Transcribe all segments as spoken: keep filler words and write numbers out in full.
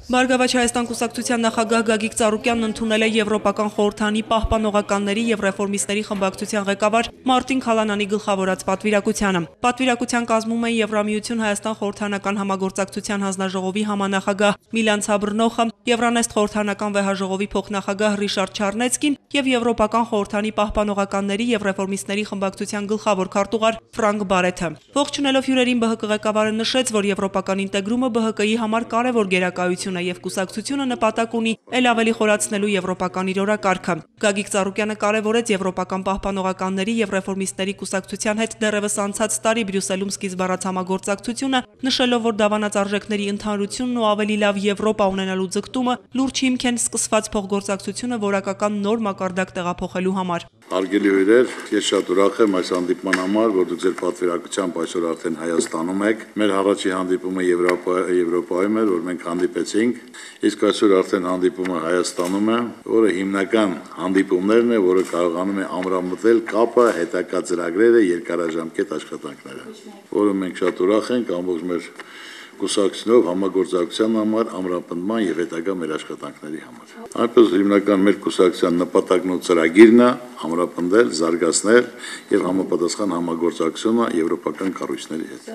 Բարգավաճ Հայաստան կուսակցության նախագահ Գագիկ Ծառուկյանն ընդունել է Եվրոպական խորհրդանի պահպանողականների և ռեֆորմիստների խմբակցության ղեկավար Մարտին Քալանանի գլխավորած պատվիրակությանը։ Պատվիրակության կազմում են Եվրամիություն Հայաստան խորհրդանական համագործակցության հանձնաժողովի համանախագահ Միլան Ցաբրնոխը, Եվրանեստ խորհրդանական վեհաժողովի փոխնախագահ Ռիշարդ Չարնեցկին և Եվրոպական խորհրդանի պահպանողականների և ռեֆորմիստների խմբակցության գլխավոր քարտուղար Ֆրանկ Բարեթը։ Ողջունելով հյուրերին ԲՀԿ ղեկավարը նշեց, որ եվրոպական ինտեգրումը ԲՀԿ-ի համար կարևոր գերակայություն է և կուսակցությունը նպատակ ունի էլ ավելի խորացնելու եվրոպական իր օրակարգը։ Գագիկ Ծառուկյանը կարևորեց Եվրոպական պահպանողականների և ռեֆորմիստների կուսակցության հետ դեռևս անցած տարի Բրյուսելում սկիզբ առած համագործակցությունը, նշելով, որ դավանած արժեքների ընդհանրությունն ու ավելի լավ Եվրոպա ունենալու ձգտումը լուրջ հիմք են սկսված փոխգործակցությունը որակական նոր մակարդակ տեղափոխելու համար։ Հարգելի հյուրեր, ես շատ ուրախ եմ այս հանդիպման համար, որ դուք ձեր պատվիրակությամբ այսօր արդեն Հայաստանում եք։ Մեր առաջի հանդիպումը Եվրոպայում էր, որ մենք հանդիպեցինք, իսկ այսօր արդեն հանդիպումը Հայաստանում է, որը հիմնական հանդիպումներն է, որը կարողանում է ամրամտել կապը, հետագա ծրագրերը, երկարաժամկետ աշխատանքները, որը մենք շատ ուրախ ենք ամբողջ մեր կուսակցությունով համագործակցության համար, ամրապնդման և հետագա մեր աշխատանքների համար։ Այնպես հիմնական մեր կուսակցության նպատակն ու ծրագիրն է ամրապնդել, զարգացնել և համապատասխան համագործակցությունը եվրոպական կառույցների հետ։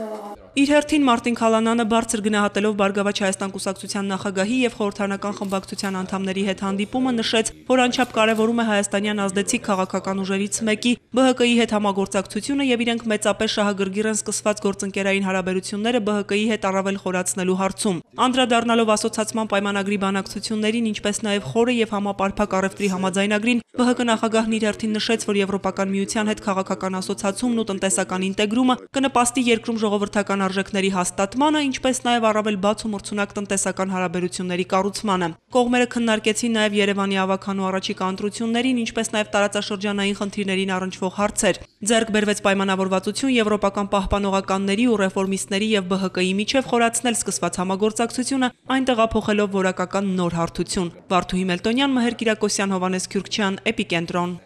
Իր հերթին Մարտին Քալանանը բարձր գնահատելով Բարգավաճ Հայաստան կուսակցության նախագահի և խորհրդանական խմբակցության անդամների հետ հանդիպումը, նշեց, որ անչափ կարևորում է հայաստանյան ազդեցիկ քաղաքական ուժերից մեկի ԲՀԿ-ի հետ համագործակցությունը և իրենք մեծապես շահագրգիռ են սկսված գործընկերային հարաբերությունները ԲՀԿ-ի հետ առավել խորացնելու հարցում։ Անդրադառնալով ասոցացման պայմանագրի բանակցություններին, ինչպես նաև խորը և համապարփակ առևտրի համաձայնագրին, ԲՀԿ նախագահն իր հերթին նշեց, որ Եվրոպական միության հետ քաղաքական ասոցացումն ու տնտեսական ինտեգրումը կնպաստի երկրում ժողովրդական արժեքների հաստատմանը, ինչպես նաև առավել բաց ու մրցունակ տնտեսական հարաբերությունների կառուցմանը։ Կողմերը քննարկեցին նաև Երևանի ավագանու առաջիկա ընտրություններին, ինչպես նաև տարածաշրջանային խնդիրներին առնչվող հարցեր։ Ձեռք բերվեց պայմանավորվածություն եվրոպական պահպանողականների ու ռեֆորմիստների և ԲՀԿ-ի միջև խորացնել սկսված համագործակցությունը, այն տեղափոխելով որակական նոր հարթություն։ Վարդուհի Մելտոնյան, Մհեր Կիրակոսյան, Հովհաննես Քյուրքչյան, Էպիկենտրոն։